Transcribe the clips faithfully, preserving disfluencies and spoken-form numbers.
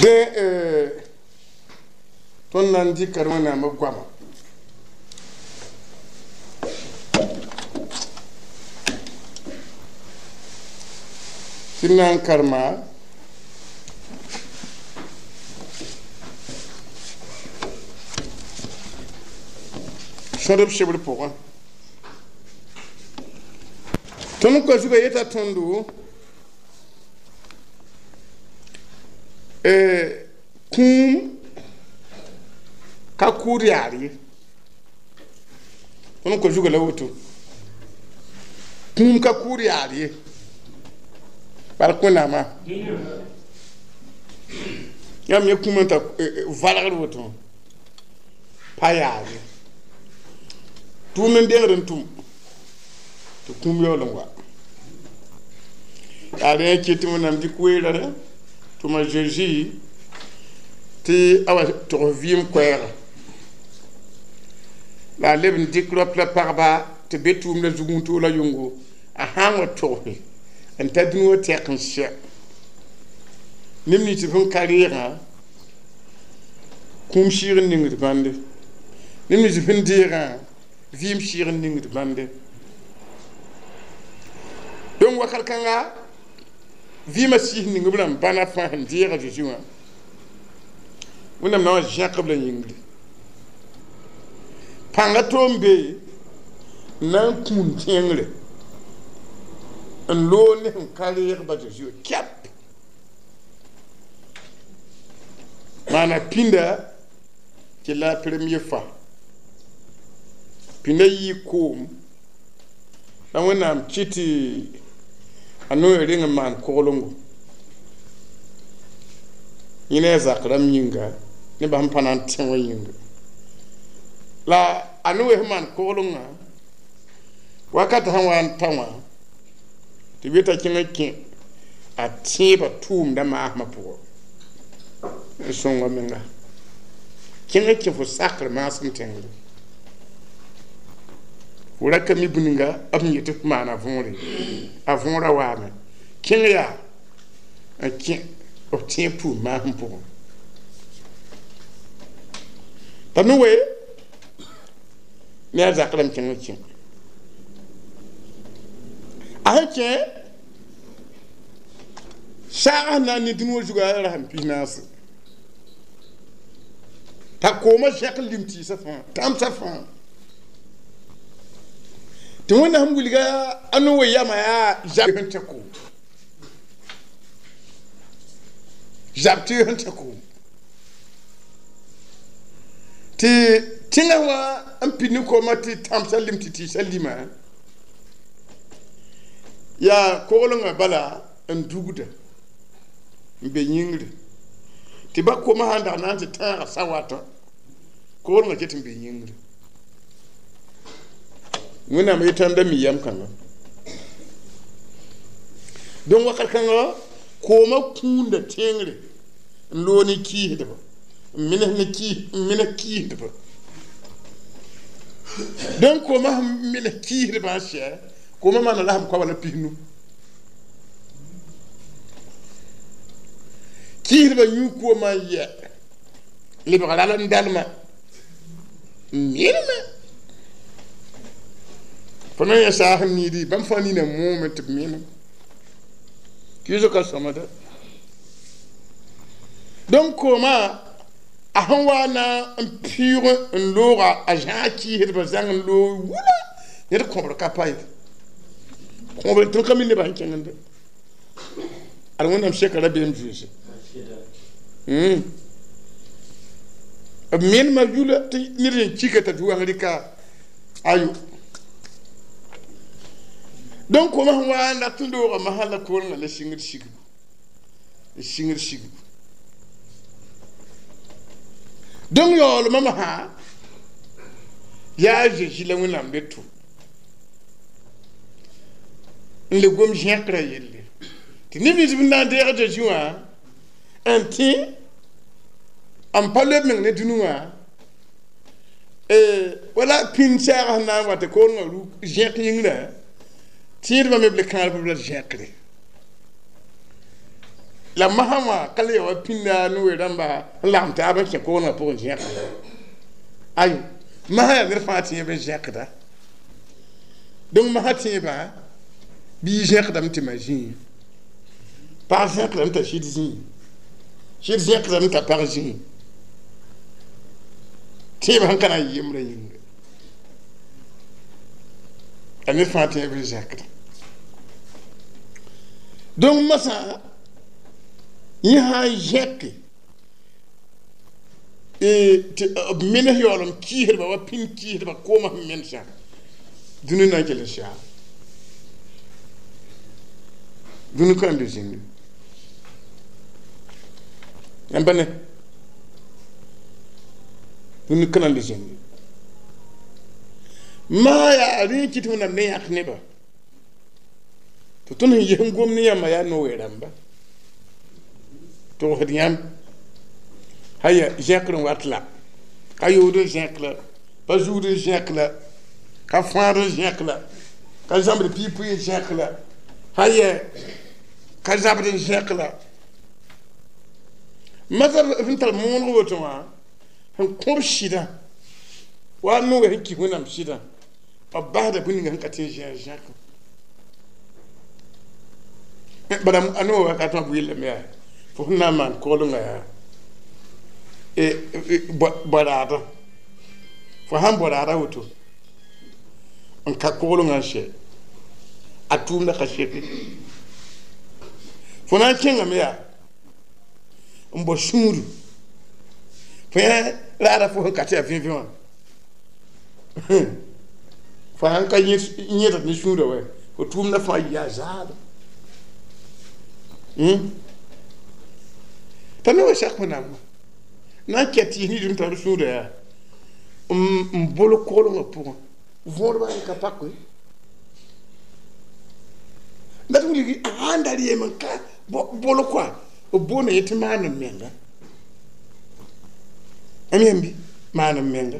Dẽ tõnd na n dɩka Wẽnnaam b goama tɩ d na n karema sõdb sebr pʋgẽ tõnd n kõ zugã yeta tõndo kũum ka kʋʋd yaar ye tõnd n kõ zugã la woto kũum ka kʋʋd yaar ye bark Wẽnnaamã yãmb yẽ kũum n ta valgd woto pa yaar ye tʋʋm n dengd n tʋm tɩ kũum yaool n wa yaa rẽ kɩt tɩ Wẽnnaam dɩk weerã tʋma Zeezi tɩ a wa togs vɩɩm koɛɛga la a leb n dɩk rap la pagba tɩ be tʋʋmdã zug n toola yʋngo a sã n wa togse n ta dũni wã tɛk n sɛ neb nins sẽn ka reegã kũum sɩɩg n ningd bãnde neb nins sẽn deegã vɩɩm sɩɩg n ningd bãnde donc wakat kãnga vɩɩmã sɩɩs ning b rãmb bãna fãa sẽn deega Zeezi wã Wẽnnaam na n wa zẽk b la yĩngri pãnga to n be n na n kũun tẽngre n loog ne sẽn ka reeg ba Zeezi wã kɛp maana pĩnda tɩ la premier fois pĩnda yɩɩ koom la Wẽnnaam kɩt tɩ a noe reng n maan koglengo yẽ ne a zak rãmb yĩnga nebã sẽn pa na n tẽ wã yĩnga la a noe sẽn maan koglengã wakat sẽn wa n ta wã tɩ b yeta kẽng n kẽ a tẽebã tʋʋmdã maasmã pʋgã n sõnga menga kẽng n kẽ fo sakr maasem tẽngre fo ra ka mi bũninga b sẽn yetɩ f maana võore a võorã waame kẽng yaa n kẽ b tẽeb tʋʋm maasem pʋgẽ t'a noe ne a zak rãmb kẽng n kẽ a sẽn kẽ saag sẽn na n ne dũni wã zugã rasem pis naase t'a koomã zẽk n lim tɩɩsã fãa tãmsã fãa tɩ Wẽnnaam wilga a noe yama yaa zab sẽn tẽ koom zab tɩ sẽn tẽ koom tɩ tẽngã wã n pid ne koomã tɩ tãmsã lim tɩ tɩɩsã lima yaa koglengã bala n dugda n be yĩngri tɩ ba koomã sã n dag na n tɩ tãaga sa watã koglengã ket n be yĩngri Wẽnnaam yetãnda mi yam kãnga donc wakat kãnga koomã kũunda tẽngre n loog ne kiisdba n mines ne kiis n mines kiisdba donc koomã sẽn mines kiisdbã n sɛ koomã maana la sẽn koaba la pisnu kiisdbã yũ koomã n yɛ lebg ral n dalma n minme fo na n yã saas n niidi bãmb fãa nina moome tɩ b minem kiisg ka sõmda donc koomã a sẽn wa na n pɩʋʋg n looga a zãag kiisdbã zãng n loog wula ned kõbr ka pa ye kõbr tõnd ka mi nebã sẽn kẽngende ad Wẽnnaam seka rabeem zoeese b menema yula tɩ ned n kika t'a tɩ wãng rɩka ayo donc koomã sẽn wa n rat n looga masã la koorengã la sɩngd sigbu n sɩngd sigbu donc yaoolmã masã yaa Zeezi la Wẽnnaam be tʋm n le gom zẽkrã yelle tɩ neb nins n na n deeg Zeezi wã n tẽ n pa loeb meng ne dũni wã wala pĩnd saagã sẽn na n wa tɩ koorengã ruk zẽk yĩngrã tẽedbã me b le kãadb la zẽkre La masã wã ka le ya wa pĩnda no-rãmba n lagem taab n kẽ koglengã pʋgẽ zẽkda ayo masã yaa ned fãa tẽeb n zẽkda donc masã tẽebã bɩ zẽkdame tɩ ma zĩig pag zẽkdame t'a sɩd zĩig sɩd zẽkdame t'a pag zĩig tẽebã sẽn ka na n yembrã yĩnga a ned fãa tẽeb n zẽkda donc masã yẽ sã n zẽke tɩ b menes yaool n kiisdba wa pĩnd kiisdba koomã sẽn menesã dũni na n kell n saam dũni ka n be zĩngi yãmb pa ne dũni ka na n le zĩngi maa yaa rẽ n kɩt wẽnnaam ne yãk nebã tɩ tõnd sẽn ges n gom ne yãmba yaa no-rãmba togsd yãmb haya zẽkr n wat la ka yood n zẽk la pa zuud n zẽk la ka fãad n zẽk la ka zãmbd piipu n zẽk la haya ka zabd n zẽk la masar sẽn tar mooneg woto wã sẽn kõb sɩdã wa noogã sẽn kis wẽnnaam sɩdã b basda bũmb ninga sẽn ka tɩ n zẽ zẽk bala a noog wakat wã b yellame yaa fo sẽn na n maan koglengã yaa baraada fo sãn baraada woto n ka koglengã n sɛ a tʋʋmda ka seke fo na n kẽngame yaa n bao sũuru fo yã raada fo sẽn ka tɩ yaa vẽvẽ wã fo sãn ka yẽd ne sũurã wɛ fo tʋʋmda fãa yaa zaadem t'a ne wa sak wẽnnaam wã na n kɛt tɩɩs nins n tar sũurã yaa n bol koglengã pʋgẽ võodbã n ka pak la tɩ wilgi sãn da reem n ka bol koa b boonda yẽ tɩ maan n menga am yãmb bɩ maan n menga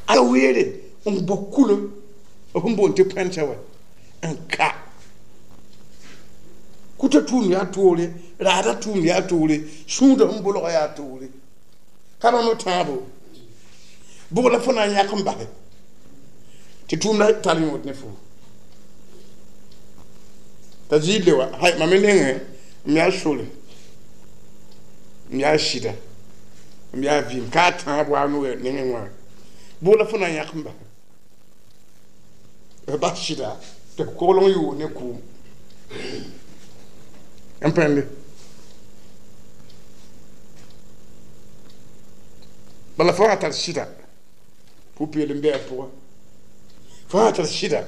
a weere n bao kulo b sẽn boond tɩ pãnsa wa n ka kuta tʋʋm yaa toore raada tʋʋm yaa toore sũudã sẽn bolga yaa toore ka bãmb tãabo bʋg la fo na n yãk n basɛ tɩ tʋʋmda tar yõod ne fo t'a zɩɩd le wa hay mam me nengẽ m yaa sore m yaa sɩda m yaa vɩɩm ka a tãab wa a nengẽ wã bʋg la fo na n yãk n basɛ f bas sɩda tɩ f kogleng yoog ne kʋʋm n pẽnde bala fo sã tar sɩda pʋ-peelem bɩ a pʋga fo sã tar sɩda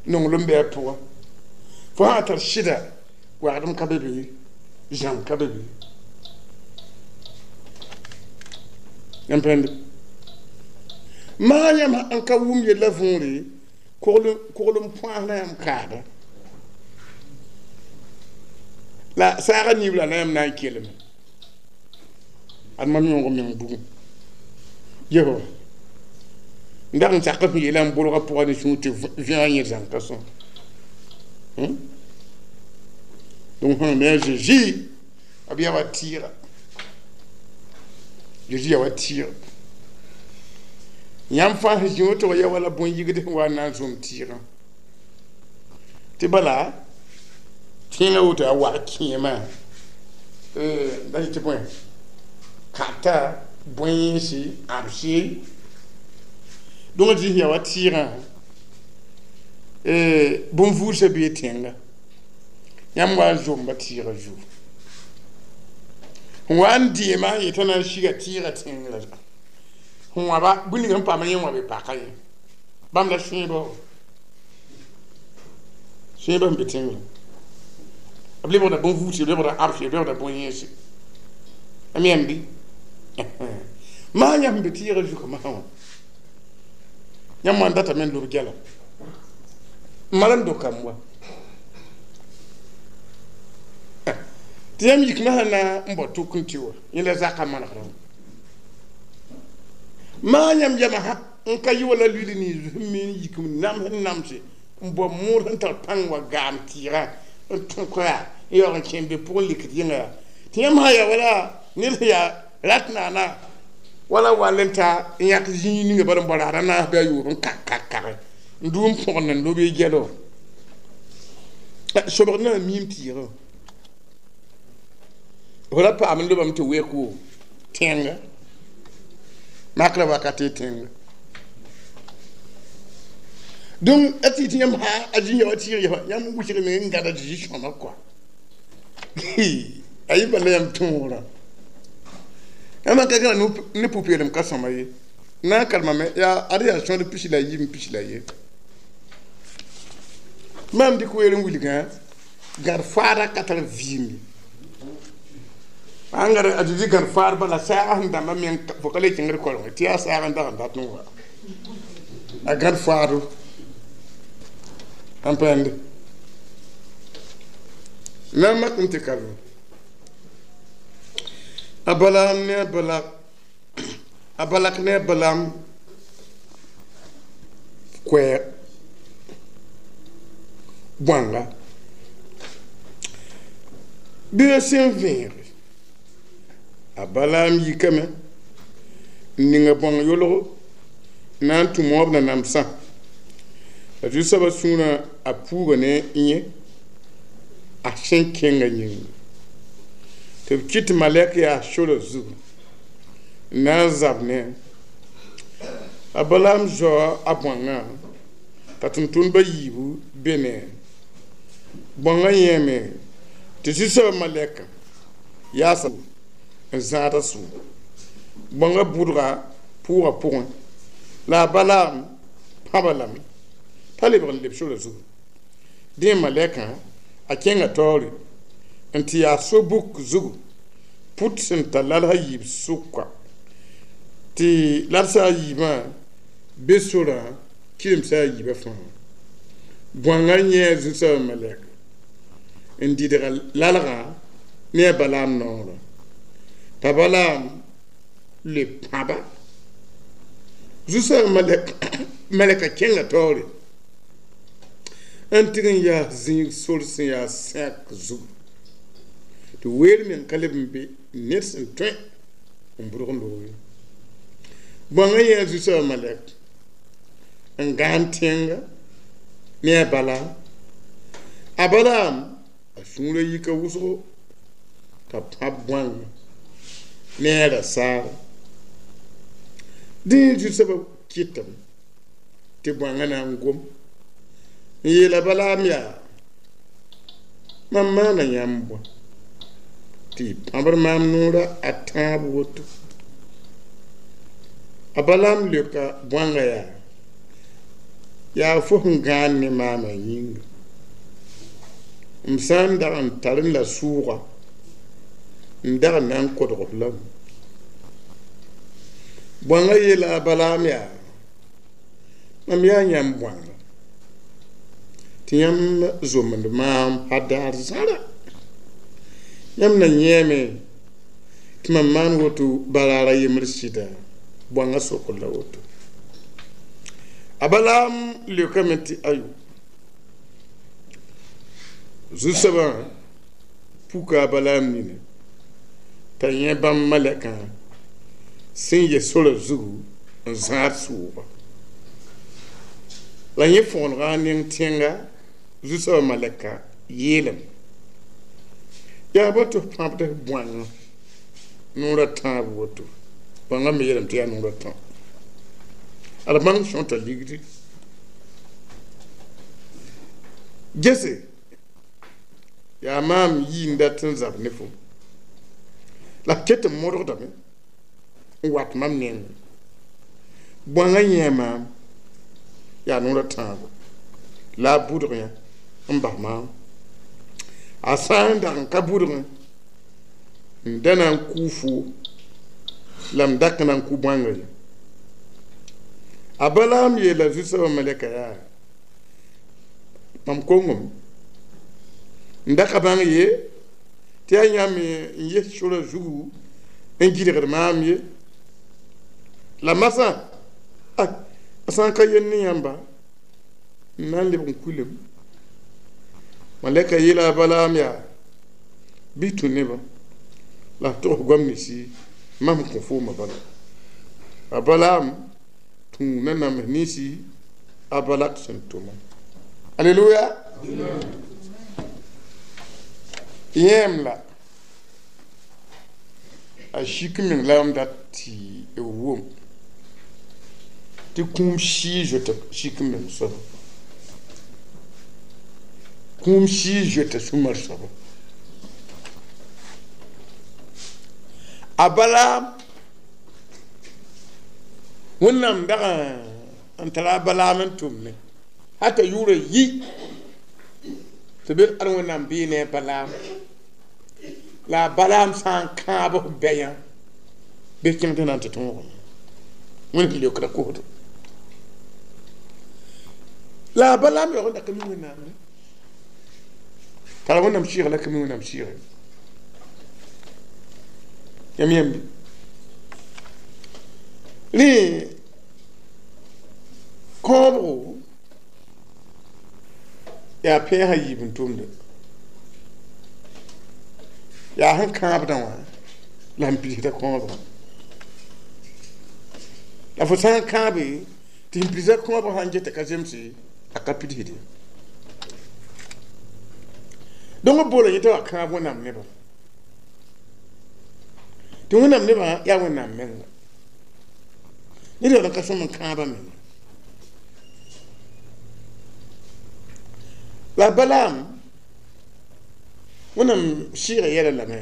nonglem bɩ a pʋga fo sã tar sɩda wagdem ka be be zãm ka be be n pẽnde maa yãmb n ka wʋm yella võore koglem põasda yãmb kaada la saaga niibla la yãmb na n kelme ad mam yõog meng bugum yesba n dag n sak sẽn yeela n bolga pʋga ne sũur tɩ vẽa yẽ zãng ka sõm donc sẽn me a Jésus b yaa wa tɩɩga Jésus yaa wa tɩɩga yãmb fãa sẽn zĩ woto wã yaa wala bõn-yigd sẽn wa n na n zõm tɩɩgã tɩ bala tẽngã woto a wag kẽemã da yetɩ bõe kata bõe-yẽnse ãbse donc a zĩs yaa wa tɩɩgã bõn-vuudsã bee tẽnga yãmb wa n zomba tɩɩgã zugu sẽn wa n deema n yetã na n siga tɩɩgã tẽngrã sẽn wãba bũmb ning sẽn paam yẽ wã be paka ye bãmb la sẽebã sẽebã sẽn be tẽngrã b lebgda bõn-vuudse b lebgda ãbse b lebgda bõn-yẽnse am yãmb bɩ maa yãmb be tɩɩgã zugã masã wã yãmb wã n datame n lob gɛla n mal n dokame wa tɩ yãmb yik masã na n bao tʋk n tɩ wa yẽ la zakã manegrã maa yãmb yamã n ka yɩ wala luili nins sẽn miin yik n nams n namse n bao mood sẽn tar pãng wa gaam tɩɩgã n tũ koa n yaoog n kẽ n be pʋgẽ likd yĩnga yaa tɩ yãmb sã ya wala ned sẽn yaa rat naana wala wall n ta n yãk zĩig ninga bala n bao raad a naas bɩ a yoob n kak kak kage n duu n põgend n lob y gɛlo sobg na n miim tɩɩgã fo ra paam n lobame tɩ week wo tẽnga makrã wakat y tẽnga donc a tɩ tɩ yãmb sã a zĩ ya wa tɩɩg yɛsã yãmb wʋsgme n gãda zĩ sõma kɔa a yɩ bala yãmb tõogrã yãmb ka gãna ne pʋ-peelem ka sõma ye na n karemame yaa ad yaa sõd pis la yiib pis la ye maam dɩk weer n wilgã gãd faada ka tar vɩɩm ye an gãd a Zezi gãd faad bala saagã sẽn dãmbã meng fo ka le kẽngd kolengẽ tɩ yaa saag n dag n dat n wa a gãd faado n pẽnde na n mak n tɩ karem a Balaam ne a Balak a Balak ne a Balaam koɛɛg bõanga bɩ sẽn vẽege a Balaam yikame n ninga bõng yolgo na n tũ moab nanamsã la zu-soabã sũurã a puuga ne yẽ a sẽn kẽnga yĩnga tɩ b kɩt malɛk yaa sora zugu n na n zab ne a Balaam zaoa a bõangã t'a tʋm-tʋmdbã yiibu be ne bõangã yẽeme tɩ zu-soabã malɛka yaasa n zãad a sʋʋgo bõangã bʋdga pʋʋgã pʋgẽ la a Balaam pãba lame t'a lebg n leb sora zugu dẽ malɛkã a kẽnga taoore n tɩ yaa so-buk zugu put sẽn ta lalsã yiib sʋka tɩ lalsã a yiibã be sorã kɩremsã a yiibã fãa bõangã yẽ zu-soabã malɛk n dɩdga lalgã ne a Balaam noorã t'a Balaam le pãba zu-soabã malɛka kẽnga taoore n tɩg n yaas zĩig sor sẽn yaa sẽk zugu tɩ weer meng ka leb n be ned sẽn tõe n bʋdg n loog ye bõangã yẽ zu-soabã malɛk n gãan tẽnga ne a Balaam a Balaam a sũurã yika wʋsgo t'a pãb bõangã ne a rasaara dẽ zu-soabã kɩtame tɩ bõangã na n gom n yeela Balaam yaa mam maana yãmb bõe tɩ y pãbd maam noora a tãab woto a Balaam leoka bõangã yaa yaa fo sẽn gãan ne maamã yĩnga m sã n dag n tar n la sʋʋga n dag n na n kodg f lame bõangã yeela a Balaam yaa mam yaa yãmb bõanga tɩ yãmb zomd maam pa daar zãra yãmb na yẽeme tɩ mam maan woto baraar a yembr sɩda bõangã sokr la woto a Balaam leokame tɩ ayo zu-soabã puka a Balaam nina t'a yẽ bãmb malɛkã sẽn yɛ sora zugu n zãad sʋʋga la yẽ fõgenga a neng tẽnga zu-soabã malɛka yeelame yaa bõ tɩ f pãbd f bõangã noorã tãab woto bõangã me yeelame tɩ yaa noorã tã ad bãng sõta ligdi gese yaa maam yii n dat n zab ne fo la f ket n modgdame n wat mam nengẽ bõangã yẽ maam yaa noorã tãabo la a bʋdg yã n bas maam a sã n dag n ka bʋdgẽ n da na n kʋ fo la m dak na n kʋ bõangã ye a Balaam yeela zu-soabã malɛka yaa mam kongame n da ka bãng ye tɩ yaa yãmb n yes sora zugu n gɩdgd maam ye la masã a sã n ka yel ne yãmba n na n lebg n kulem Malɛka yeela a Balaam yaa bɩ tũ nebã la f togs goam ninsi mam sẽn kõ foomã bala a Balaam tũu nanams ninsi a Balak sẽn tʋma. Aleluya. Yẽem la a sik meng la m dat tɩ b wʋm tɩ kũum sɩɩ zoeta sik meng soaba kũum sɩɩ zoeta sũmar soaba a Balaam Wẽnnaam dag n tara a Balaam n tʋmne hata yʋʋrã yi tɩ be ad Wẽnnaam bee ne a Balaam la a Balaam sã n kãab f bɛyã bɩ kẽng tɩ na n tɩ tõogame Wẽnd sẽn leokda kosdo la a Balaam yaoog n da ka mi Wẽnnaam ye tara Wẽnnaam sɩɩga la ka mi Wẽnnaam sɩɩga yãmb yãmb rẽ kãobgo yaa pẽesã yiib n tʋmde yaa sẽn kãabdã wã la sẽn pidsda kãobgã la fo sã n kãabe tɩ sẽn pidsda kãobgã sãn geta ka zemse a ka pidsde donc b boola yẽ t'a wa kãab Wẽnnaam nebã tɩ Wẽnnaam nebã yaa Wẽnnaam menga ned yaool n ka sõm n kãabã menga la Balaam Wẽnnaam sɩɩga yɛla lame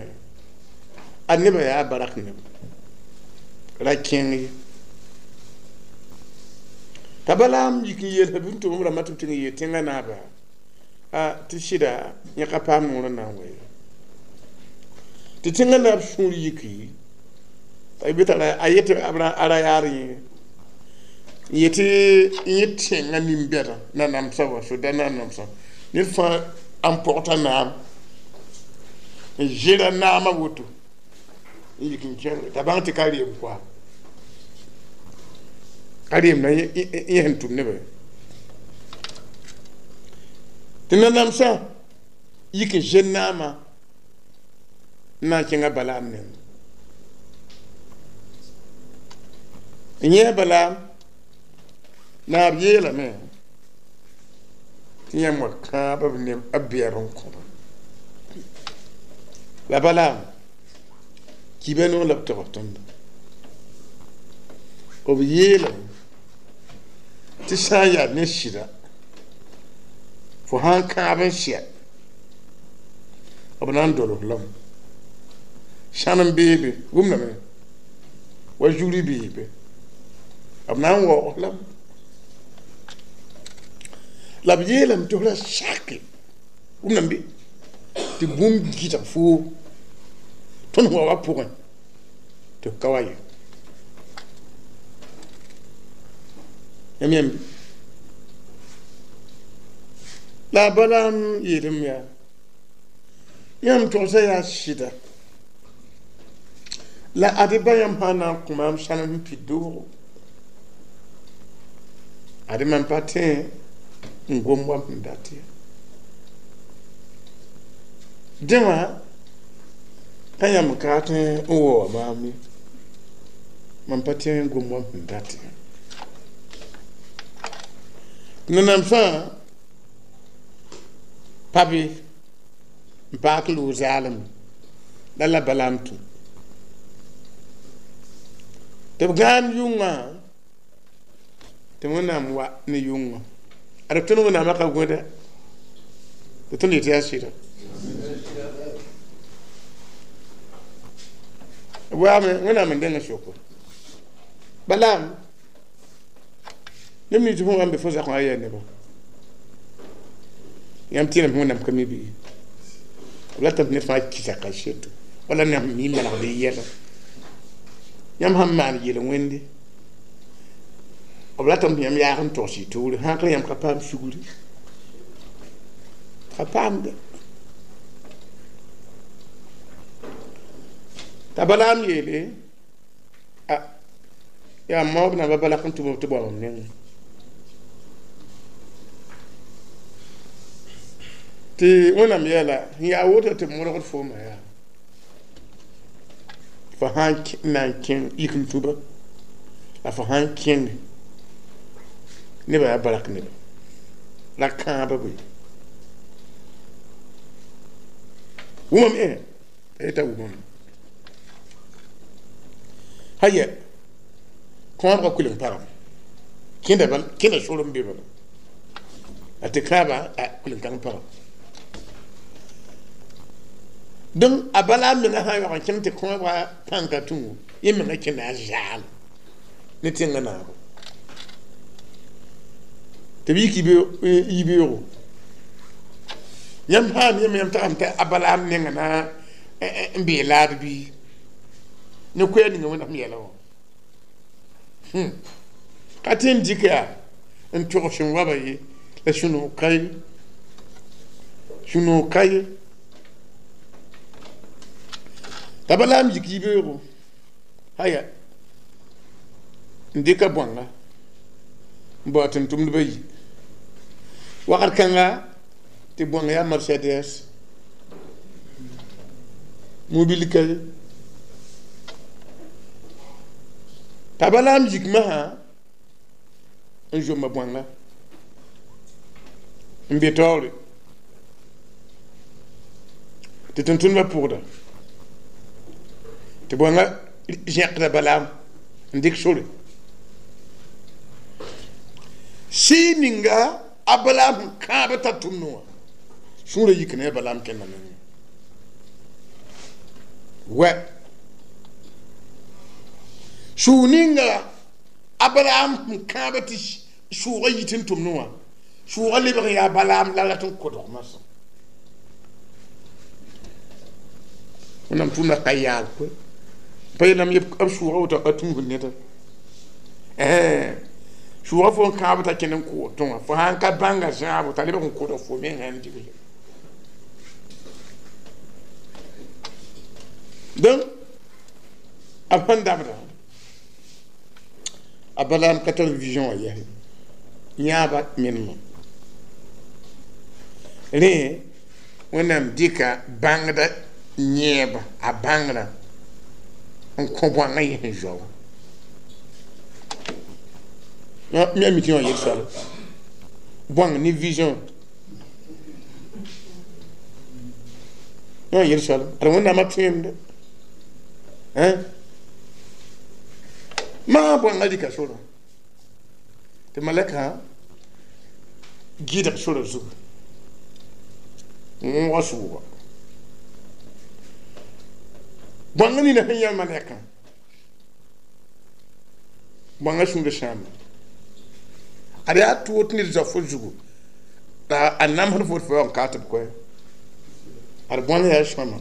a nebã yaa barak neb ra kẽng ye t'a Balaam yik n yeel b n tʋm b rãmbã tɩ b tɩ n yeel tẽngã naaba tɩ sɩda yẽ ka paam noor n na n wa ye tɩ tẽngã naab sũur yiki a yetɩ a ra yaar yẽ n yetɩ yẽ tẽngã nin-bɛdã nanamsã wa soda nanamsã ned fãa n pɔgta naam n zẽra naamã woto n yik n kẽng t'a bãng tɩ ka reem koa ka reem na yẽ sẽn tʋm nebã tɩ nanamsã yik n zẽn naamã n na n kẽnga Balaam nengẽ n yẽ Balaam naab yeelame tɩ yãmb wa kãab b neb b bɛɛb n kõba la Balaam kiba noog la b togs tõndo b yeelame tɩ sã n yaa ne sɩda fo sã n kãab n sɛ b na n dolg lame sãn n beebe wʋmdame wa zugri beebe b na n waoog lame la b yeelame tɩ f ra sake wʋmdame bɩ tɩ bũmb gɩdg foo tõnd waoogã pʋgẽ tɩ f ka wa ye yãmb yãmb la a Balaam yeelame yaa yãmb togsã yaa sɩda la ad ba yãmb sã n na n kõ maam sãnem sẽn pid doogo ad mam pa tẽ n gom wa sẽn dat ye dẽ wã pa yãmb n ka tẽ n waoog maam ye mam pa tẽ n gom wa sẽn dat ye nanamsã pa be n paak loog zaalem la la Balaam tũ tɩ b gãan yʋngã tɩ Wẽnnaam wa ne yʋngã ad b tõnd Wẽnnaamã ka gõeda tɩ tõnd yetɩ yaa sɩda b waame Wẽnnaam n dẽng soko Balaam neb nins fõ wa n be fo zakã yaa nebã yãmb tẽedame Wẽnnaam ka mi bɩ b ratame tɩ ned fãa kɩsa kaseto wala neb mi manegd y yɛla yãmb sãn maan yel-wẽnde b ratame tɩ yãmb yaag n togs y toore sãn ka yãmb ka paam sugri ka paamde t'a Balaam yeele a yaa maoob namba Balak n tʋm b tɩ bao mam nengẽ tɩ Tɩ Wẽnnaam yeela n yaa woto tɩ modgd fooma yaa fo sã n na n kẽng yik n tũba la fo sã n kẽng nebã yaa barak neba la kãabã bõe wʋmam ẽ t'a yeta wʋmame haya kõobga kuilen pagame kẽnda kẽnda sor n be bala a tɩ kãabã a kuilen kãng pagame donc a bala menga sã n yaoog n kẽng tɩ kõobga pãnka tũu yẽ menga kẽnda a zaal ne tẽngã naago tɩ b yik yibeoogo yãmb sã n yem yãmb tagame tɩ a Balaam nenga na n bee laad bɩ ne koɛɛ ninga Wẽnnaam yɛla wã ka tɩ n dɩk yaa n tog sẽn waba ye la sũ-noog ka ye sũ-noog ka ye t'a Balaam yik yibeoogo haya n dɩka bõanga n bao tʋm-tʋmdbã yi wakat kãnga tɩ bõng yaa Mercedes mobil ka ye t'a Balaam yik masã n zomba bõanga n be taoore tɩ tʋm-tʋmdbã pʋgda tɩ bõanga zẽkda Balaam n dɩk sore sɩɩ ninga a Balaam sẽn kãab t'a tʋmdẽ wã sũurã yik ne a Balaam kẽnda nengẽ wɛ sũur ninga a Balaam sẽn kãab tɩ sʋʋgã yit n tʋmdẽ wã sʋʋgã lebg n yaa Balaam la rat n kodg masã Wẽnnaam tʋʋmdã ka yaal koe pa yeelame b sʋʋgã woto a tũusd neda sʋʋgã fo n kãab t'a kẽnd n kʋʋd tõa fo sã n ka bãnga zãabo t'a lebg n kodg fo mengã n digle donc b sẽn dabda a Balaam ka tar vision wã yɛse yãaba menemã rẽ Wẽnnaam dɩka bãngda yẽeba a bãngrã n kõ bõangã yẽ sẽn zoa wã mi a mi tɩ wã yel soaba bõang ne vision wã yel soaba ad Wẽnnaamã tõemde maa bõangã rɩka sorã tɩ malɛkã gɩdg sorã zugu n wõoga sʋʋga bõangã nina sẽn yã malɛkã bõangã sũurã sãama ad yaa toog tɩ ned zao fo zugu la a namsd fo tɩ fo yaoog n kaa tɩ b koɛ ad bõang yaa sõama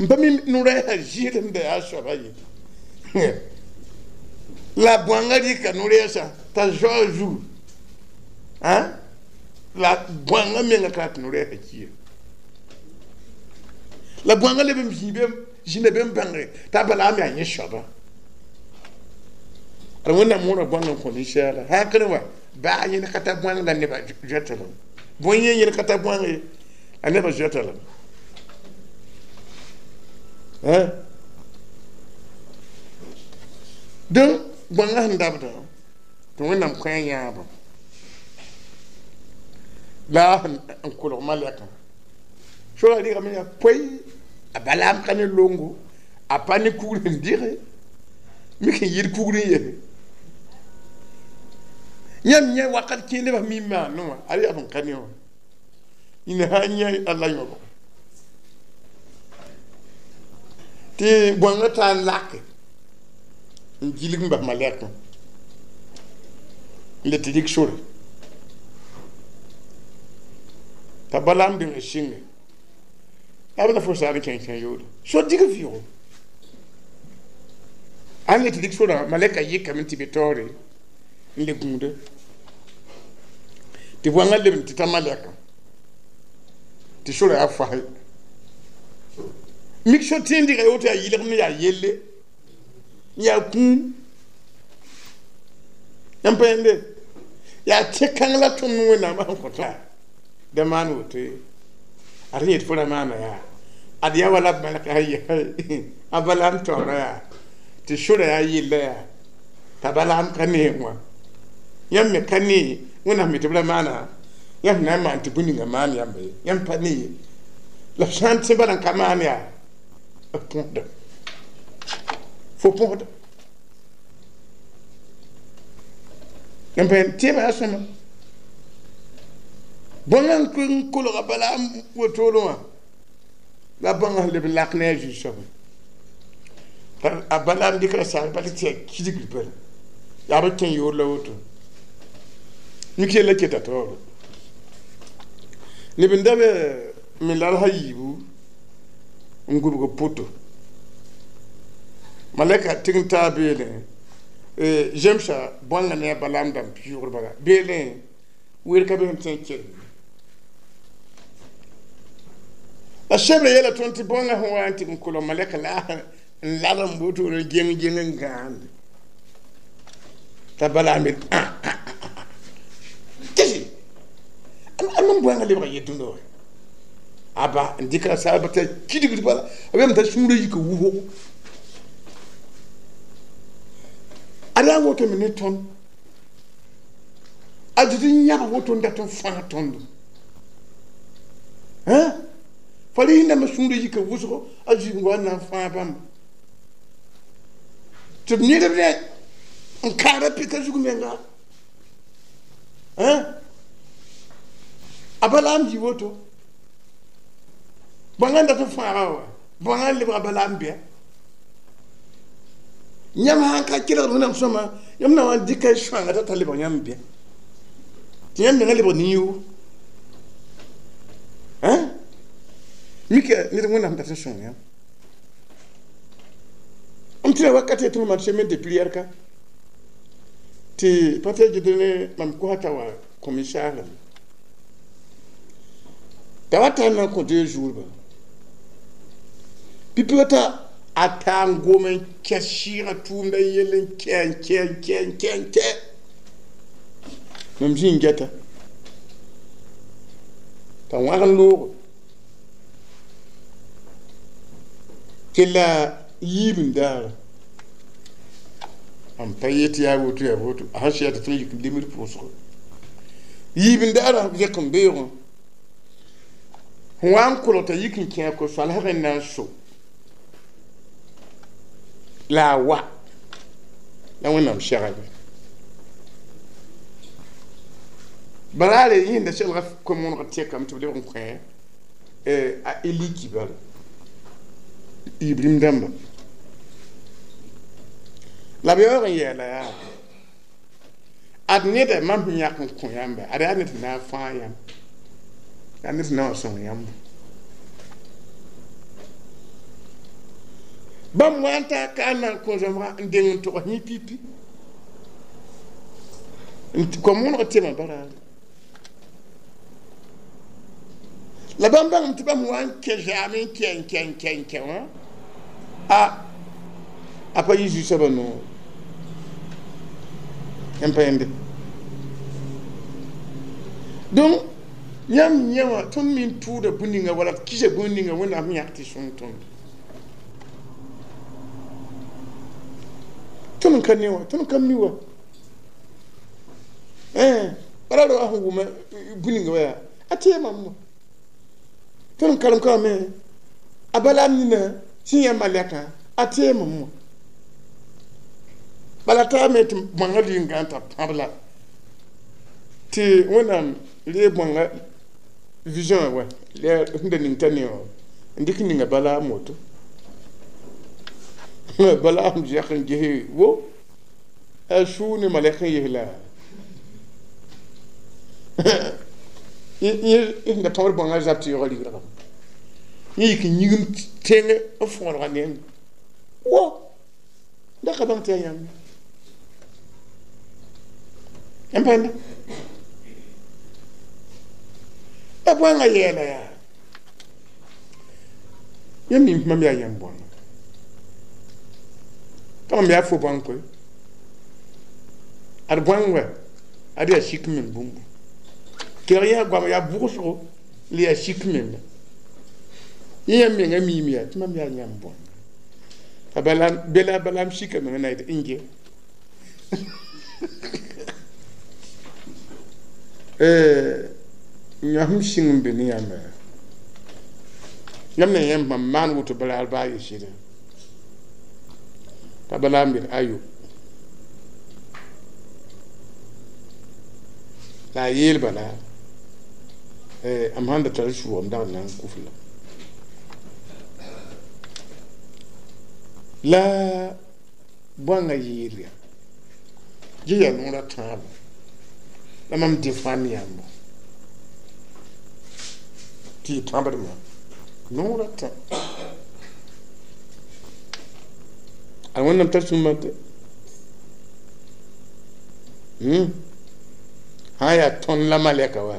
n pa mi no-rɛɛsã zɩɩd sẽn da yaa soaba ye la bõangã rɩka no-rɛɛsã t'a zoa zugu la bõangã menga ka tɩ no-rɛɛsã kiya la bõangã leb n zĩnda be n bãnge t'a Balaam yaa yẽ soaba ad Wẽnnaam mõora bõang n kõ ninsaala sã n kẽne wa baa yẽnd ka ta bõang la nebã zoeta lame bõe yẽ yẽnd ka ta bõang ye la nebã zoeta lame donc bõangã sẽn dabda tɩ Wẽnnaam kõ a yãabã la n kolg malɛkã sora rɩgame yaa poe a Balaam ka ne longo a pa ne kugr sẽn dɩge mik n yɩɩd kugr n yese yãmb yẽ wakat kẽer nebã mi n maanẽ wã ad yaa sẽn ka ne wã yĩna sã n yã alla yõbg tɩ bõangã taa n lake n gilg n bas malɛkã n le tɩ rɩk sore t'a Balaam deng n sɩnge b la fo saar n kẽng kẽ yoore so dig vɩʋgo a n le tɩ rɩk sorã malɛka yɩkame tɩ be taoore n le gũuda tɩ bõangã leb n tɩ ta malɛkã tɩ sorã yaa fas mik so tẽen dɩga woto yaa yɩlgem yaa yelle n yaa kũum yãmb pa yẽnde Yaa tẽ-kãng la tõnd Wẽnnaam sẽn kõ tõe da maan woto ye ad yet fo ra maana yaa ad yaa wala b malka a Balaam taoora yaa tɩ sora yaa yella yaa t'a Balaam ka neem wã yãmb me ka ne Wẽnnaam me tɩ b ra maana yãmb na n maan tɩ bũmb ninga maan yãmba ye yãmb pa ne ye la b sã n tẽ bala n ka maan yaa b põsda fo põsda yãmb pa tẽebã yaa sõma bõnga n kolga Balaam wotoro wã la bõnga sẽn leb n lak ne a Zu-soabã a Balaam dɩkra saag bal tɩ yaa kidgr bala yaa b kẽ yoor la woto mik yella keta taoore neb n da be me lalsã yiibu n gubg poto malɛka tɩg n taa beelẽ zemsa bõnga ne a Balaam dãmb pɩʋʋgr bala beelẽ weer ka be sẽn tõe n kelem la sebrã yeela tõnd tɩ bõnga sẽn wa n tɩg n kolg malɛka la n lad n woto n geng geng n gãande t'a Balaam yet tɩ a mam bõnga lebga yel-dũnda wa aba n dɩkra saaba t'a kidgd bala a beame t'a sũurã yika wʋsgo ad yaa wotome ne tõnd a zɩd n yãg woto n dat n fãag tõndo fa rẽndame sũurã yika wʋsgo a zuig wa n na n fãag bãmba tɩ b ned rẽ n kaara pika zug menga a Balaam yɩ woto bõnga n dat n fãaga wa bõnga n lebga Balaam bɩa yãmb sãn ka kelgd Wẽnnaam sõma yãmb na wa n dɩka y sõanga t'a ta lebg yãmb bɩa tɩ yãmb menga lebg nin-yoog mika ned Wẽnnaam dat n sõng yãmb m tɩ ra wakat tɩ mam semaine de prière ka tɩ pa tɩ gɩd ne mam kosa t'a wa commissaire t'a wa tar na n kõ deux jours ba pipi wata a taa n gom n kẽ sɩɩgã tʋʋmdã yell n kɛ n kɛ n kɛ n kɛ n kɛ mam zĩ n gɛta t'a wãg n loogo kella yiib n daara mam pa yet yaa woto yaa woto a sẽn sɩda tɩ tõnd yik n lemd pʋʋsgo yiib n daara zẽk n beoogẽ sẽn wa n kolg t'a yik n kẽ a ko-soalsg n na n so la a wa la Wẽnnaam segame baraare yẽnda selga kom-wõneg tẽkame tɩ b lebg n kõ a Eliki bala Ibrahim dãmba la b yaoog n yɛɛla yaa ad neda mam sẽn yãk n kõ yãmba ad yaa ned sẽn na n fãag yãmb yaa ned sẽn na n wa sõng yãmb bãmb wa n taa ka n na n kõ zãmbga n deng n togs yẽ pipi kom-wõneg tɩma baraare la bãmb bãngame tɩ bãmb wa n kẽ zaam n kɛ n kɛ n kɛ n kɛ wã a a pa yɩ Zu-soabã noor yãmb pa yẽnde donc yãmb yẽ wã tõnd me n tʋʋda bũmb ninga wala d kisa bũmb ninga Wẽnnaam sẽn yãk tɩ sõng tõnd tõnd n ka ne wã tõnd n ka mi wa bala ra wa sẽn wʋma bũmb ninga wa yaa a tee mam wã tõnd n karem ka wame a Balaam nina sẽn yã malɛkã a tee mam wã bala taa me tɩ bõnga lʋɩ n gã t'a pãb la tɩ Wẽnnaam reeg bõnga vision wa sẽn da ning t'a ne wã n dɩk ninga Balaam woto Balaam zɛk n ges wo a suu ne malɛk n ges la yẽ da pãbd bõnga zab tɩ yaoog rigrgame yẽ yik n yĩgim tẽng n fõolga neng wo da ka bãng tɩ yaa yãmb yãmb pa yẽnda la bõnga yɛɛla yaa yãmb ning mam yaa yãmb bõnga pa mam yaa fo bõng koe ad bõng wa Ad yaa sik meng bũmbu kelg yaa goam yaa bʋgsgo la yaa sik menga yẽ yãmb menga miime yaa tɩ mam yaa yãmb bõanga t'a bela balaam sika menga na yetɩ n ge yãsem sĩng n be ne yãmba yãmb na yãmb mam maan woto bala baa ye sɩda t'a balaam yel ayo la a yeel bala m sãn da tar sʋʋgm dag n na n kʋf la la bõanga yeel yaa yẽ yaa noora tãabo la mam defãnd yãmbo tɩ y pãbdmã noora tã a wẽnnaam tar sũmã tɩ sã n yaa tõnd la malɛka wa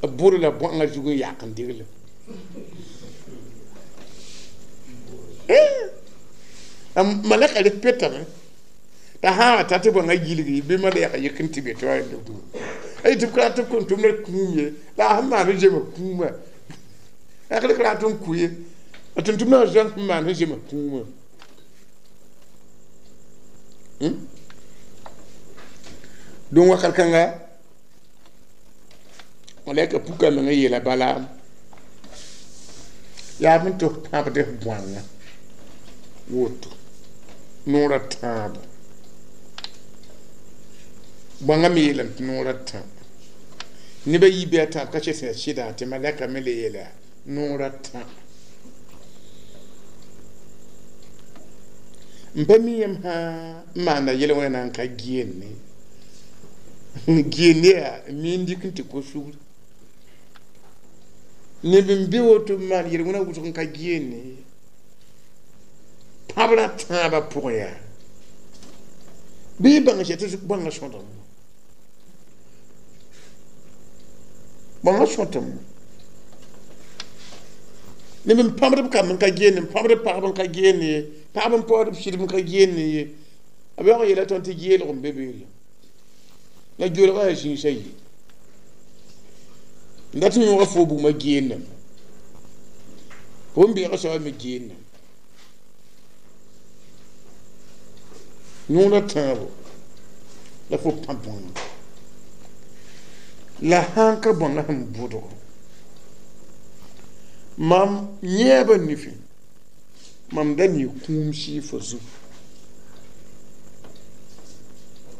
b bʋd la bõanga zug n yak n digle malɛka rɩ petame t'a sã wa ta tɩ bõanga gilgi bɩ malɛka yik n tɩ be tɩ wa ay tɩ b ka tɩ b kõn tʋmda kũum ye la a sẽn maan sẽn zema kũumã a ka rat n kʋ ye a tʋm-tʋmdã wã zãng sẽn maan sẽn zema kũumã donc wakat kãnga malɛka puka meng n yeela balaam yaa b tɩ f pãbd f bõanga woto noora tãabo bõanga me yeelame tɩ noora tã neba yi bɩ a tãab ka sẽn yaa sɩda tɩ malɛka me le yeela noora tã n pa mi yãmb sã n maanda yel-wẽna na n ka geende geende yaa n mi n dɩk n tɩ ko sugr neb n be woto n maan yel-wẽna wʋsg n ka geende pãbrã tãabã pʋgẽ yaa bɩ y bãng sɛ tɩ bõanga sõdame bõanga sõtame neb n pãbd b kamb n ka geende n pãbd b pagb n ka geende ye pagb n paood b sɩdb n ka geende ye b yaoog n yeela tõnd tɩ geelg n be beele la geelgã yaa zĩisã ye n dat n yõoga foo bugmã geendame fo n beega soaba me geendame noora tãabo la fo pãb bõanga la sãn ka bõanga sẽn bʋdgo mam yẽeba nifẽ mam da ne kũum sɩɩfã zugu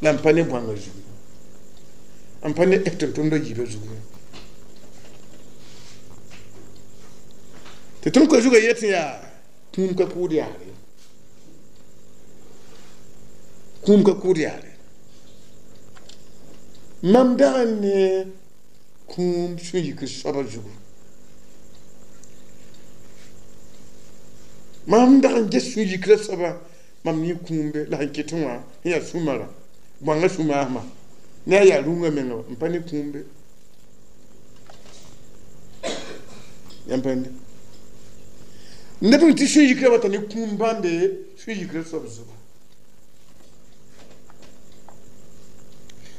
la m pa ne bõanga zugu m pa ne tʋm-tʋmdã yiibã zugu tɩ tõnd ka zugã yet yaa kũum ka kʋʋd yaare kũum ka kʋʋd yaare mam dag n ne kũum sũ-yikr soabã zugu mam dag n ges sũ-yikrã soabã mam ne kũumbe la sẽn ket wã sẽn yaa sũ-marã bõanga sũ-maasmã ne a yaa rũngã menga n pa ne kũumbe yãmb pãnde neb n tɩ sũ-yikrã wata ne kũum bãmbe sũ-yikrã soab zugu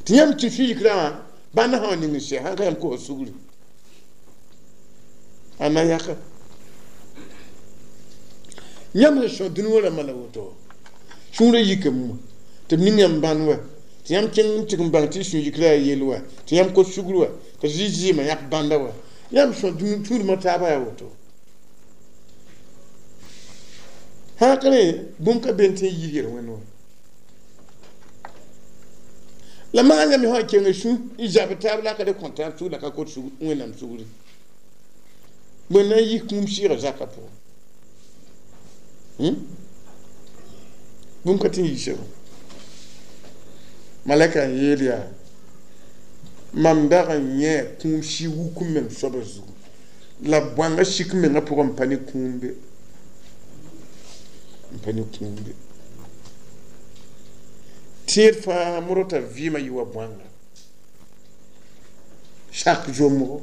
tɩ yãmb tɩ sũ-yikrã wã bãnd sã wa ning n sɛ sãn ka yãmb kosa sugri a na yaka yãmb sẽn sõ dũni wã rãmbã la woto sũurã yikame wã tɩ b ning yãmb bãnd wa tɩ yãmb kẽng n tɩg n bãng tɩ sũ-yikrã yaa yell wa tɩ yãmb kos sugr wa tɩ zɩ zɩɩmã yãk bãnda wa yãmb sõ sũurmã taabã yaa woto sãn ka rẽ bũmb ka be n tɩ n yiis yel-wẽnd wã la maan yãmb sã n keng sũ n zab taab la ka le kõ taab sugr la ka kot wẽnnaam sugri bõe na n yis kũum sɩɩgã zakã pʋgẽ bũmb ka tɩ n yiisa malɛka n yeel yaa mam dag n yẽ kũum sɩ wuk n meng soabã zugu la bõanga sik mengã pʋgẽ n pa ne kũumbe n pa ne kũumbe tẽed fãa modg t'a vɩɩmã yɩ wa bõanga sak zombgo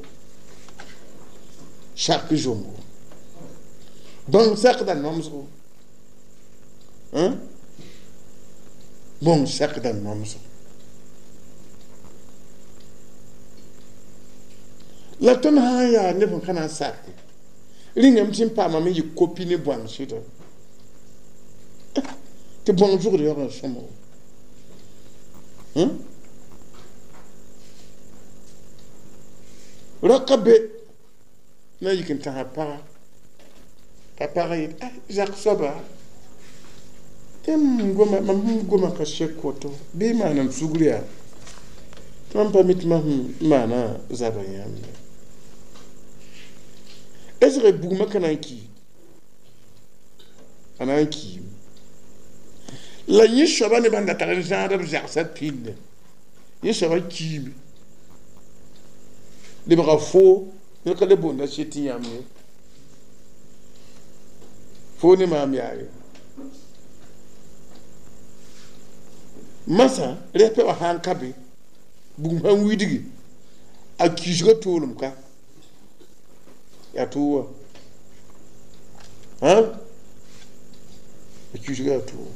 sak zombgo bãng sakda nomsgo bõng sakda nomsgo La tõnd sã n yaa neb sẽn ka na n sake rĩngame tɩ n paamame yɩ kopi ne bõang sɩda tɩ bõng zʋgd yaoog n sõma raka be na yik n tãsa paga t'a pagã yet zak soaba m goma mam sẽn goma ka sek woto bɩ maanam sugr yaa tɩ mam pa mi tɩ mam sẽn maana zaba yãmb est-ce bugmã ka na n ki a na n kiime la yẽ soaba nebã n da tar n zãad b zagsã pĩnda yẽ soaba kiime lebga foo ned ka le boonda sɩd tɩ yãmb ye foo ne maam yaa ye masã rɛpɛ wã sã n ka be bugum sãn widgi a kiisgã toolem ka yaa tʋʋ wã a kiisgã yaa tʋʋ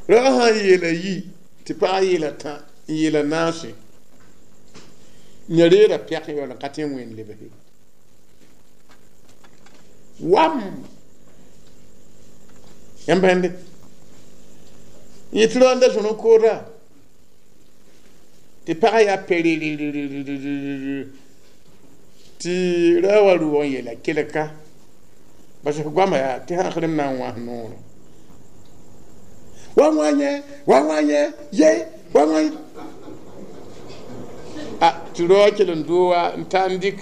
rag sã n yeela yi tɩ pagã yeela tã n yeela naase yã reera pɛk yaool n ka tõe n wẽnd lebse wam yãmb bãnde yẽ tɩ raoonda zõr n kooda tɩ pagã yaa perererererere tɩ ra wa rʋʋg n yeela kelka bas f goama yaa tɩ sãasrem na n wãs noorã wa wã yẽ wa wã yẽ ye wa wã a tɩ raoã kell n doo wa n ta n dɩk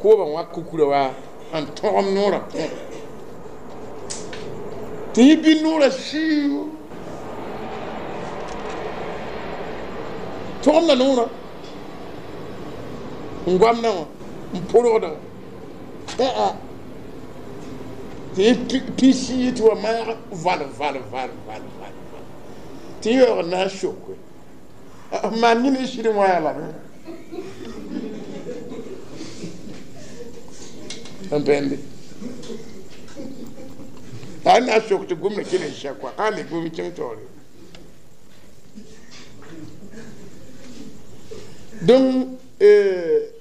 koobã wã kukura wa n tõgem noorã pʋgẽ tɩ yẽ bɩ noorã siio tõgemda noorã n goamdã wã n porgdã wã tɩ yẽ pĩsi tɩ wa maag val val val val val tɩ yẽ yaoog n na n soke maan yẽ ne sɩd wã yaa lame n bẽnde a na n sok tɩ gomda kell n sɛ koa ka le gom kẽng taoore donc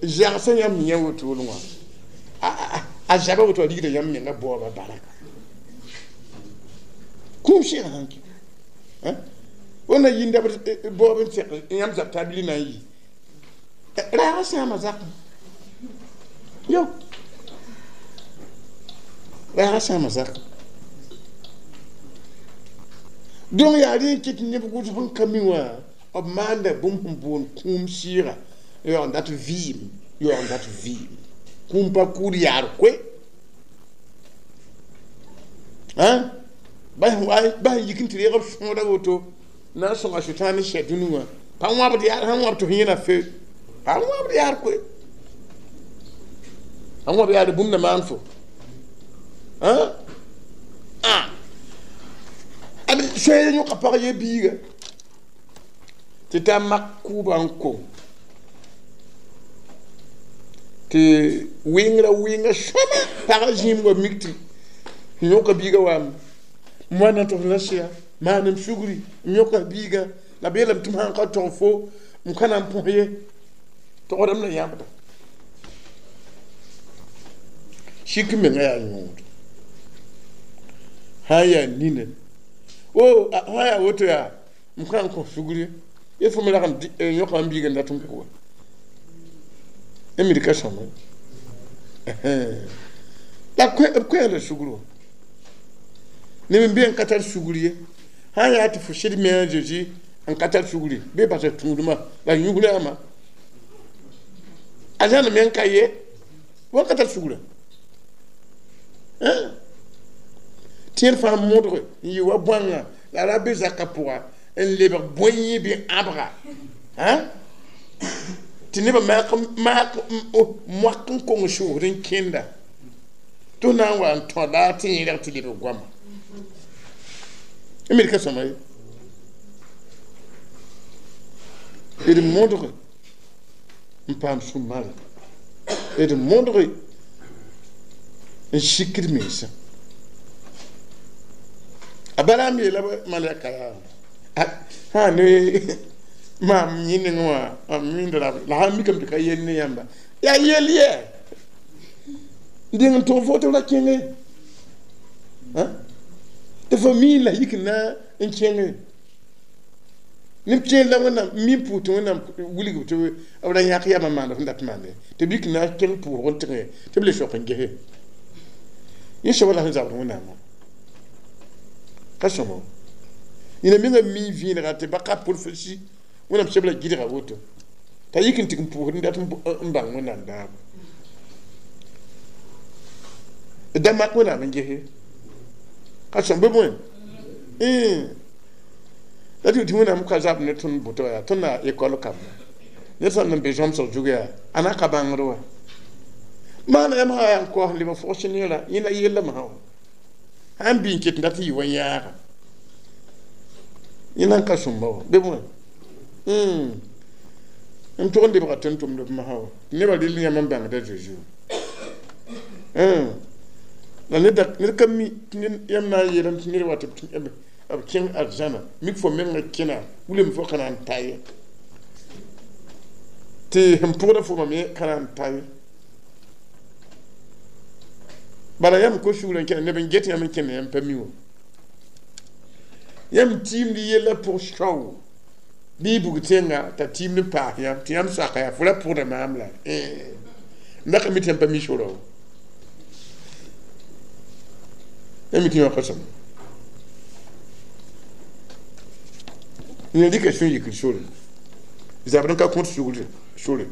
zagsã yãmb yã wotone wã a zaba woto a rigda yãmb menga baooba baraka kũum sɩgã sãn kɩ wẽnna yĩnda baoob n tẽk yãmb zab t'a bili na n yi raagã sãama zakẽ yo raagã sãama zakẽ donc yaa rẽ n kɩt neb gʋls sẽn ka mi wã b maanda bũmb sẽn boond kũum sɩɩga yaoog n dat vɩɩm yaoog n dat vɩɩm kũum pa kʋʋd yaar koe bas n yik n tɩ reeg b sõoda woto na n sõnga sʋtãan ne sɛ dũni wã pa wãbd yaar sãn wãb tɩ f yẽna fe pa wãbd yaar koe a wãb yaar bũmb na maan fo ad soɛɛ yõka pag ye biiga tɩ t'a mak kʋʋba n kong tɩ wɩngrã wɩnga sõma pagã zĩim wa mik tɩ yõka biiga waame m wa na tɩ f la sɩa maanem sugri m yõka biiga la b yeelame tɩ m sãn ka tog fo m ka na n põs ye togdame la yãbda sik menga yaa yõod sã n yaa nina o sã yaa woto yaa m ka n kõ sugri ye fo me rag n yõka m biiga n dat n kʋa mi d ka sõma la b koɛɛg la sugr wã neb n be n ka tar sugr ye sã n yaa tɩ fo sɩd me a Zezi n ka tar sugri bɩ basa tũudmã la yũsrãamã a zãn me n ka ye wa ka tar sugrã tẽed fãa modge n yɩ wa bõanga la ra be zakã pʋga n lebg bõe bɩ ãbga tɩ nebã maak moak n kong sʋʋsd n kẽnda tɩ f na n wa n tõ la tɩ yẽrg tɩ lebg goama me d ka sõma ye d modge n paam sũ-mara d modge n sikd mensã a balaam yeela malɛka yaa sã ne Maam yẽ nengẽ wã mam mindra la sã n mikame tɩ ka yell ne yãmba yaa yell yɛ n deng n tʋg fo tɩ b ra kẽnge tɩ fo mii la yik n na n kẽnge neb kẽer la Wẽnnaam mi n pʋʋs tɩ Wẽnnaam wilg tɩ b ra yãk yamã maand sẽn dat maande tɩ b yik n na n kẽng pʋʋsg n tẽge tɩ b le sok n gese yẽ soaba la sẽn zabd Wẽnnaamã ka sõmo yẽna menga mi vẽenega tɩ ba ka prophétie Wẽnnaam sebla gɩdga woto t'a yik n tɩg n pʋʋsd n dat n bãng Wẽnnaam daabo da mak Wẽnnaam n gese ka sõm bɩ bõe la tɩ tɩ Wẽnnaam ka zab ne tõnd bʋtɔ yaa tõnd na école kamba ned sã n be zõmsg zug yaa a na ka bãngd wa maana yãmb sã yaa n kaoos n leb n fogs neerã yẽna yellame sã wã sã n bɩ n ket n dat n yɩ wa yãaga yẽna n ka sõmba wã bɩ bõe n tʋg n lebga tõnd tʋmd b masã wã tɩ nebã rɩl yãmb n bãngda Zeezi la ned ka mi tɩ yãmb na n yeelame tɩ ned wa tɩ b b kẽng arzãna mik fo menga kẽna wilem fo ka na n ta ye tɩ sẽn pʋgda fo me ka na n ta ye bala yãmb ko sugrã n kẽna neb n get yãmb n kẽnd yãmb pa mi wã yãmb tiimd yellã pʋg sao bɩ y bug tẽnga t'a tiimd n paas yãmb tɩ yãmb soaka yaa fo ra pʋgda maam la n da ka mi tɩ yãmb pa mi sora wã yãmb mi tɩ yã ka sõma n rɩka sũ-yikr sore zabd n ka kõt sugr sore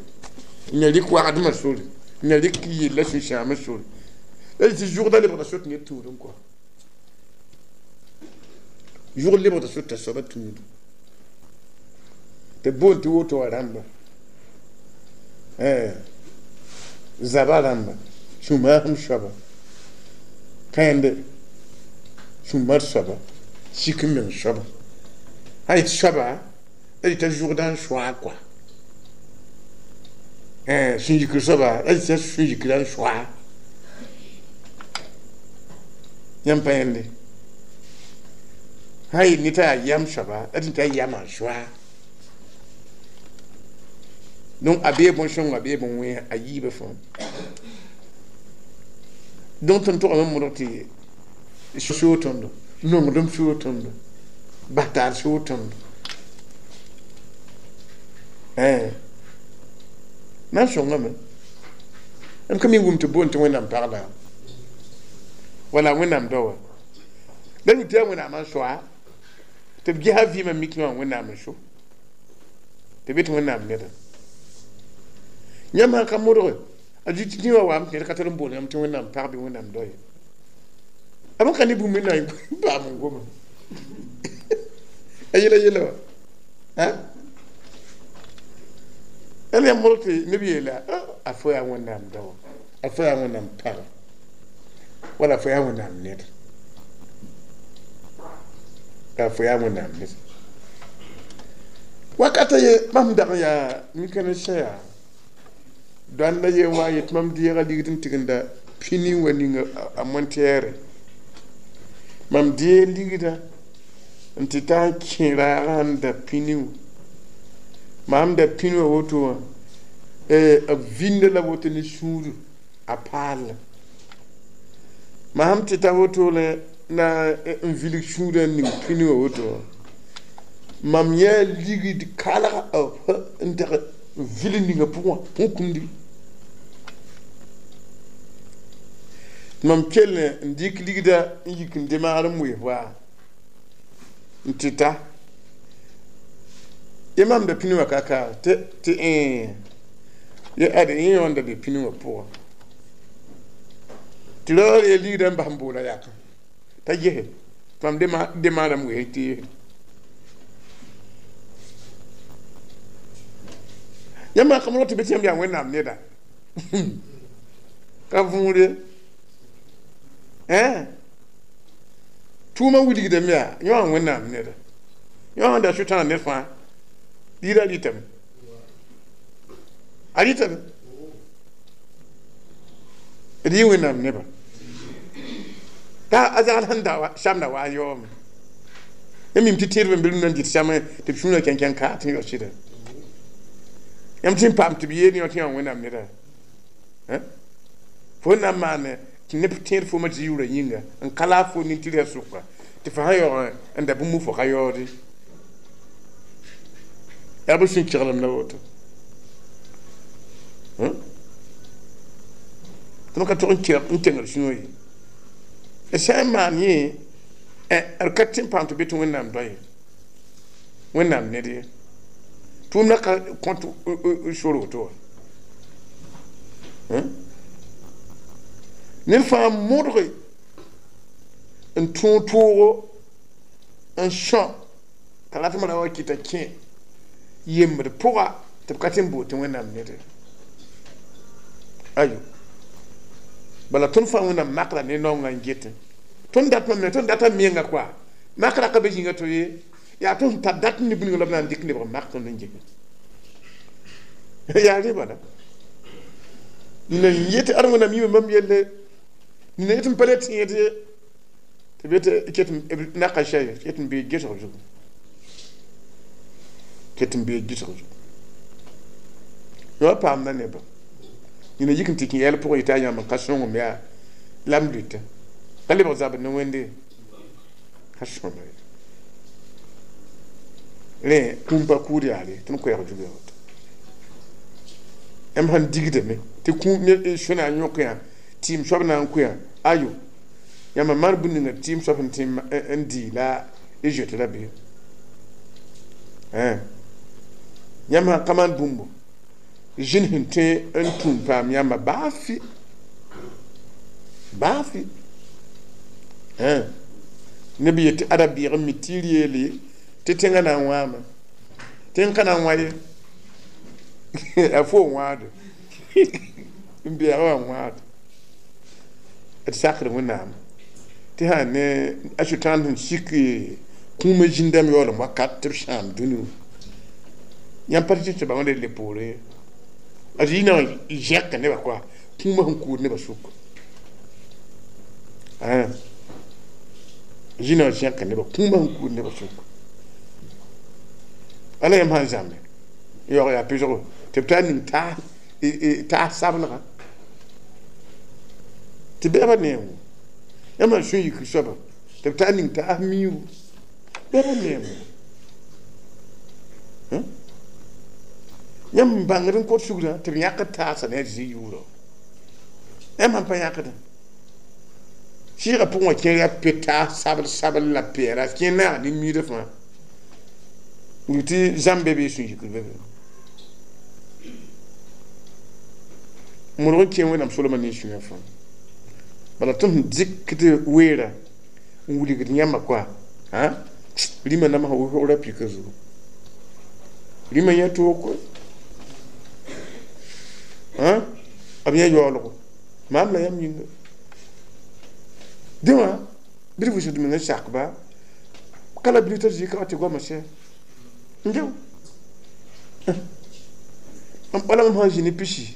n rɩk wagdmã sore n rɩk yella sũ-sãamã sore la tɩ zʋgda lebgda sot ned tũudẽ kɔa zʋgd lebgda sot t'a soaba tũudu tɩ boond tɩ woto wã rãmba zaba rãmba sũ-maasem soaba kãende sũ-mar soaba sik n meng soaba sã yetɩ soaba la yetɩ zʋgda n soa kɔa sũ-yikr soaba la yetɩ sũ-yikrã n soa yãmb pa yẽnde sã yet ned t'a yaa yam soaba la tɩ t'a yamã soa donc a bee bõn-sõngo a bee bõn-wẽnsa a yiibã fãa donc tõnd togame n modg tɩ soog tõndo nongdem soog tõndo bas taar soog tõndo na n sõngame m ka mi wʋm tɩ boond tɩ Wẽnnaam pagda wala Wẽnnaam dao wã la rʋ tɩ yaa Wẽnnaam n soa tɩ b gesa vɩɩmã mik wã Wẽnnaam n so tɩ be tɩ Wẽnnaam neda yãmb sã ka modge a zĩ tɩ wã waam tɩ ned ka tar n bool yãmb tɩ Wẽnnaam pag bɩ Wẽnnaam dao ye a b ka ne bũmb na n paam n goma a yela yela wã ãn yãmb modg tɩ neb yeela a fo yaa Wẽnnaam dao a fo yaa Wẽnnaam paga wala fo yaa Wẽnnaam ned a fo yaa Wẽnnaam ned wakata ye mam dag yaa mika ne sã yaa dõanda ye n wa yet mam deega ligd n tigenda pini wa ninga a montɛɛre mam dee ligda n tɩ taa n kẽ raagã n da pini wã maam da pini wã woto wã b vinda la woto ne sũur a paalla maam tɩ ta woto la na n vilg sũurã n ning pini wã woto wã mam yã ligd kalga n tag n vil ninga pʋgã põn kũmdi mam kell n dɩk ligda n yik n demaar n wees waa n tɩ ta ye mam da pini wã ka ka tɩ ye ade yẽ wã n da be pini wã pʋgã tɩ raoor ye ligda n bas n boola yakã t'a gese mam demaarame wees tɩ yese yãmb sã ka modg tɩ be tɩ yãmb yaa Wẽnnaam neda ka võor ye tʋʋmã wilgdame yaa yõ wã Wẽnnaam neda yõ sẽn da sʋtãan ned fãa ligda rɩtame a rɩtame d yɩ Wẽnnaam neba t'a a zagl sẽn da samda wa a yaoome Yãmb mim tɩ tẽedbã n be rũndã n dɩt sãmẽ tɩ b sũurã kẽnkẽn kaat n yao sɩda. Yãmb tɩ n paam tɩ b yeel yõ tɩ yã Wẽnnaam neda. Fo na n maane tɩ neb tẽed foomã tɩ yʋʋrã yĩnga n ka laaf fo nin-tɩrgã sʋka tɩ fo sã yaoog n da bũmb fo ka yaoode. Yaa b sũ-keglem la woto. Tõnd ka tog n kengd sũurã ye. D sã n maan yẽ d ka tɩ n paam tɩ be tɩ Wẽnnaam doa ye, Wẽnnaam ned ye. Tʋʋmdã ka kõt sor woto wã. Ned fãa modge n tõog toogo n sõ t'a ratmã ra wa kɩta kẽ yembd pʋga tɩ b ka tɩ n bool tɩ Wẽnnaam ned ye. Ayo. Bala tõnd fãa Wẽnnaam makra ne naongã n getẽ. Tõnd datmã me, tõnd data menga koa. Makra ka be zĩnga to ye, yaa tõnd sẽn tar dat ne bũmb la b na n dɩk lebg mak tõnd n gese. Yaa rẽ bala. Nina n yet ad Wẽnnaam yĩma bãmb yelle, nina yet n pa le tẽed ye, tɩ b yet ket naka sɛ ket n bee gesg zugu. Ket n bee gesg zugu. Yõ paamda nebã. Nina yik n tɩ kẽ yɛl pʋgẽ yetɩ a yãmb n ka sõngem yaa la m lʋɩta. Ka lebg zabr ne Wẽnde ka sõma ye. Rẽ kũum pa kuud yaa re, tõnd koɛɛg zug yaa woto. Yãmb sãn digdame tɩ kũum ne sũ na n yõk yã tɩɩm soab na n kõ yã ayo yãmb maan bũmb ninga tɩɩm soab sẽn tɩ n dɩ la y zoet rabeem. Yãmb sãn ka maan bũmbo zĩnd sẽn tõe n tũum paam yãmba baa fɩ baa fɩ. Neb yetɩ ada bɩɩg n mi tɩ r yeele tɩ tẽngã na n wãame tẽng ka na n wã ye a fo n wãade n beɛg wã n wãade d sakd Wẽnnaam tɩ sã ne a Sʋtãan sẽn sik kũumã zĩndame yaoolem wakat tɩ b sãam dũni wã yãmb pa tɩ tɩ bãmb le poorẽ ye. A zĩ na n zẽka nebã koa kũumã sẽn kuud nebã sʋk. Zĩ na n zẽka nebã kũumã sẽn kuud nebã sʋk. Ala yãmb sãn zãmbe yaoog yaa pɩsgo tɩ b taa ning taas sablga tɩ bɛɛbã neem yãmb sãn sũ yikr soaba tɩ b taa ning taas miiru bɛɛbã neem yãmb n bãngd n kot sugrã tɩ b yãkd taasã ne a Zezi yʋʋrã yãmb sãn pa yãkdã sɩɩgã pʋgẽ wã kẽer yaa pe taas sabl sabl la peɛla kẽ naag ne miidã fãa tɩ zãmb be bɩ sũ-yikr be be modg n kẽ Wẽnnaam solmã ne sũyã fãa bala tõnd sẽn dɩkd weera n wilgd yãmba koa rĩmã namsã wʋsgra pika zugu rĩmã yã toog koe b yã yaoolgo maam la yãmb yĩnga dẽ wã bɩ d vʋʋsg d mengã sakba ka la bilf t'a zĩ ka wa tɩ goamã sɛ n geo wala mam sãn zĩ ne pisi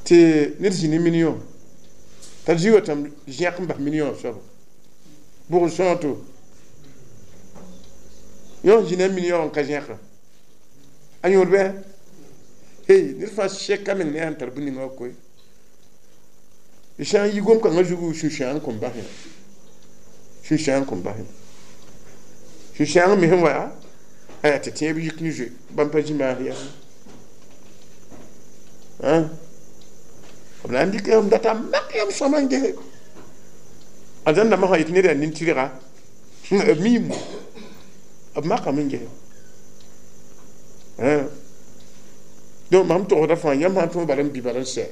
tɩ ned zĩ ne million t'a zĩ wa tãmb zẽk n bas million soaba bʋg n sõog to yõ zĩ ne million n ka zẽka a yõod bɩ hey ned fãa sɛka meng ne a sẽn tar bũmb ninga wã koe d sã n yi gom-kãngã zugu sũ-sãang kõn bas yã sũ-sãang kõn bas yã sũ-sãang me sẽn wa aya tɩ tẽeb yik ne zoe bãmb pa zĩ maas yaa b na n dɩk m data mak yãmb sõma n gese a zãn dãmbã sã yetɩ ned yaa nin-tɩrga b miime b makame n gese donc mam togsda fãa yãmb sãn tõog bala n bɩ bala n sɛ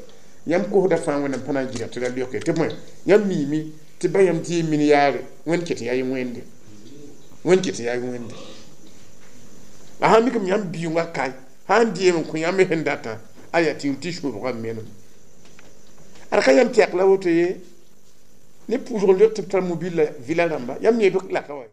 yãmb kosda fãa Wẽnnaam pa na n gɩda tɩ ra leoke tɩ bõe yãmb miime tɩ ba yãmb dɩ min yaare Wẽnd ket yaa y wẽnde Wẽnd ket yaa y wẽnde la sãn mikame yãmb biʋngã kae sãn dɩɩm n kõ yãmb sẽn datã aya tɩ tɩ sũubgã menem ad ka yãmb tɛk la woto ye ne pʋʋsg n lek tɩ b tar mobile la vɩla rãmba yãmb yẽ b laka wa.